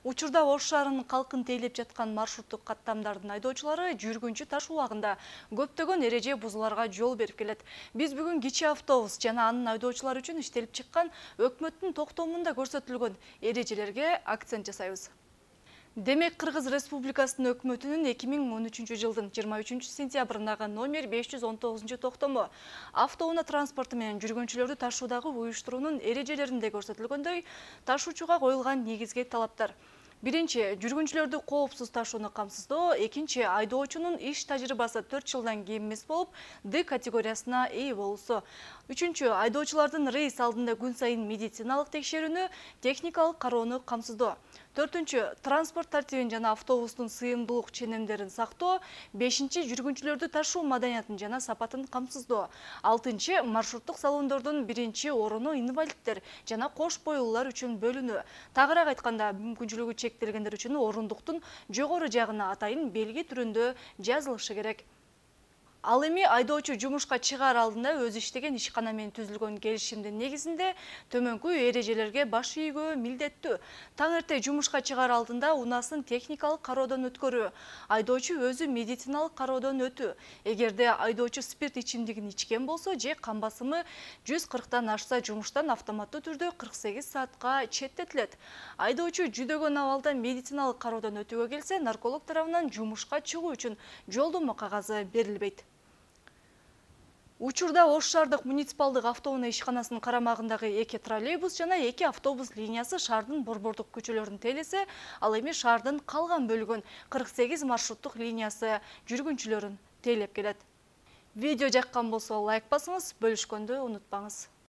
Учурда Ош шаарынын калкын тейлеп жаткан маршруттук каттамдардын айдоочулары жүргүнчү таш убагында көптөгөн эреже бузууларга жол берип келет. Биз бүгүн кичи автобус жана анын айдоочулары үчүн иштелип чыккан өкмөттүн токтомунда көрсөтүлгөн эрежелерге акцент жасайбыз. Демек, Кыргыз Республикасынын өкмөтүнүн 2013 жылдын 23 сентябрындагы номер 519 токтому автоунаа транспорту менен жүргүнчүлөрдү ташуудагы уюштуруунун эрежелеринде көрсөтүлгөндөй ташуучуга коюлган негизги талаптар. Биринчи, жүргүнчүлөрдү коопсуз ташууну камсыздоо. Экинчи, айдоочунун иш тажрыйбасы 4 жылдан кем эмес болуп, Д категориясына ээ болуусу. Үчүнчү, айдоочулардын рейс алдында күн сайын медициналык текшерүүнү, техникалык кароону камсыздоо. Төртүнчү, транспорт тартибин жана автобустун сыйымдуулук ченемдерин сактоо. Бешинчи, жүргүнчүлөрдү ташуу маданиятын жана сапатын камсыздоо. Алтынчы, маршруттук салондордун биринчи оруну инвалидтер жана кош бойлуулар үчүн бөлүнүү. Тагыраак айтканда, мүмкүнчүлүгү чектелгендер үчүн орундуктун жогору жагына атайын белги түрүндө жазылышы керек. Ал эми айдоочу жумушка чыгаар алдында өз иштеген ишкана менен түзүлгөн келишимдин негизинде төмөнкү эрежелерге баш ийгөө милдеттүү. Таң эрте жумушка чыгаар алдында унаасын техникалык кароодон өткөрүү. Айдоочу өзү медициналык кароодон өтүү. Эгерде айдоочу спирт ичимдигин ичкен болсо же кан басымы 140тан ашса, жумуштан автоматтуу түрдө 48 саатка четтетилет. Айдоочу жүдөгөн абалда медициналык кароодон өтүүгө келсе, нарколог тарабынан жумушка чыгуу үчүн жолдомо кагазы берилбейт. Учурда Ош шаардык муниципалдык автоунаа ишканасынын карамагындагы 2 троллейбус жана 2 автобус линиясы шаардын борбордук көчөлөрүн тейлесе, ал эми шаардын калган бөлүгүн 48 маршруттук линиясы жүргүнчүлөрүн тейлеп келет. Видео жаккан болсо лайк басыңыз, бөлүшкөндү унутпаңыз.